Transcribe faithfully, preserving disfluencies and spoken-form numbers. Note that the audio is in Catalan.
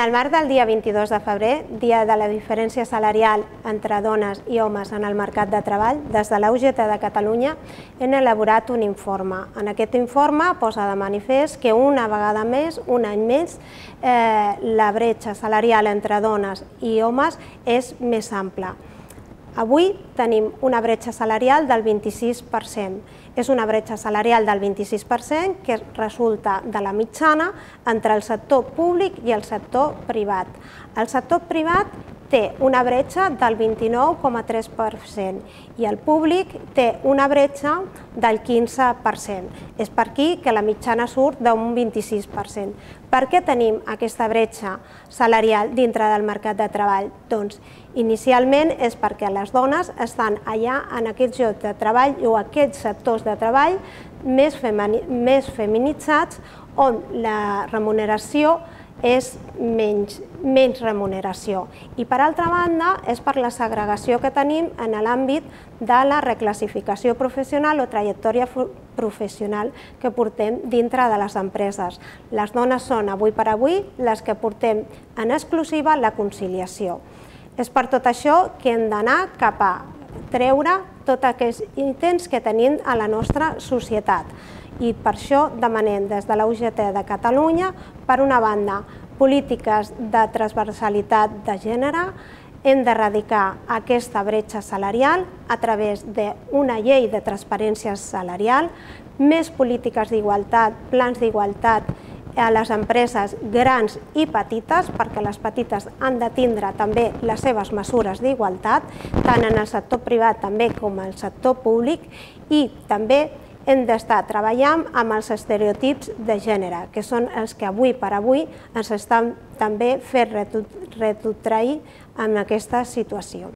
En el marc del dia vint-i-dos de febrer, dia de la diferència salarial entre dones i homes en el mercat de treball, des de la U G T de Catalunya hem elaborat un informe. En aquest informe posa de manifest que una vegada més, un any més, eh, la bretxa salarial entre dones i homes és més ampla. Avui tenim una bretxa salarial del vint-i-sis per cent. És una bretxa salarial del vint-i-sis per cent que resulta de la mitjana entre el sector públic i el sector privat. El sector privat té una bretxa del vint-i-nou coma tres per cent i el públic té una bretxa del quinze per cent. És per aquí que la mitjana surt d'un vint-i-sis per cent. Per què tenim aquesta bretxa salarial dintre del mercat de treball? Doncs inicialment és perquè les dones estan allà en aquests llocs de treball o aquests sectors de treball més feminitzats on la remuneració és menys, menys remuneració. I per altra banda és per la segregació que tenim en l'àmbit de la reclassificació professional o trajectòria professional que portem dintre de les empreses. Les dones són avui per avui les que portem en exclusiva la conciliació. És per tot això que hem d'anar cap a treure tots aquests ítems que tenim a la nostra societat. I per això demanem des de la U G T de Catalunya, per una banda, polítiques de transversalitat de gènere, hem d'erradicar aquesta bretxa salarial a través d'una llei de transparència salarial, més polítiques d'igualtat, plans d'igualtat a les empreses grans i petites, perquè les petites han de tindre també les seves mesures d'igualtat, tant en el sector privat també com en el sector públic, i també hem d'estar treballant amb els estereotips de gènere, que són els que avui per avui ens estan també fent retrotrair en aquesta situació.